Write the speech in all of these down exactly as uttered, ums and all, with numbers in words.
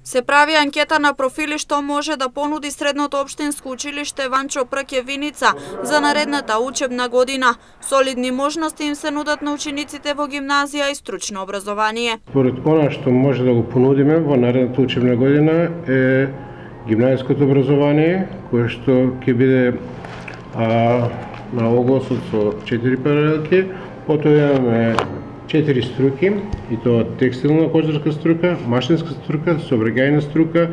Се прави анкета на профили што може да понуди средното општинско училиште Ванчо Пркевиница за наредната учебна година. Солидни можности им се нудат на учениците во гимназија и стручно образование. Според она што може да го понудиме во наредната учебна година е гимназиското образование, кое што ќе биде а, на огласот со четири паралелки, потоа имаме четири струки, и тоа текстилна кожарска струка, машинска струка, сообраќајна струка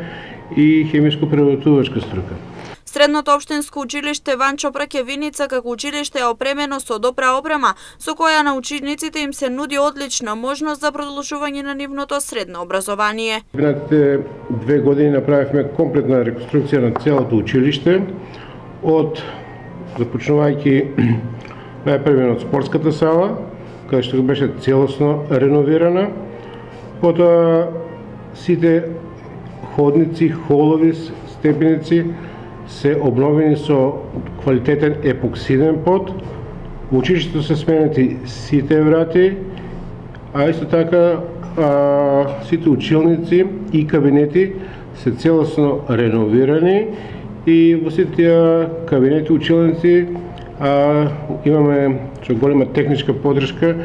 и хемиско-преработувачка струка. Средното општинско училиште Ванчо Пркевиница како училиште е опремено со добра опрема, со која на учениците им се нуди одлична можност за продолжување на нивното средно образование. Минатите две години направивме комплетна реконструкција на целото училиште, од започнувајќи најпрво од спортската сала, каде што беше целосно реновирана, потоа сите ходници, холови, степеници се обновени со квалитетен епоксиден пот. Во училиштето се сменети сите врати, а исто така а, сите училници и кабинети се целосно реновирани и во сите тие кабинети училници а, имаме со голема техничка поддршка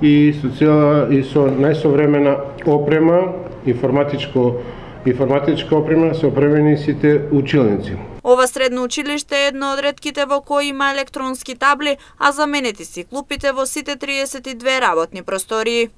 и со цела и со најсовремена опрема, информатичко информатичка опрема се опремени сите училници. Ова средно училиште е едно од ретките во кои има електронски табли, а заменети си клупите во сите триесет и две работни простории.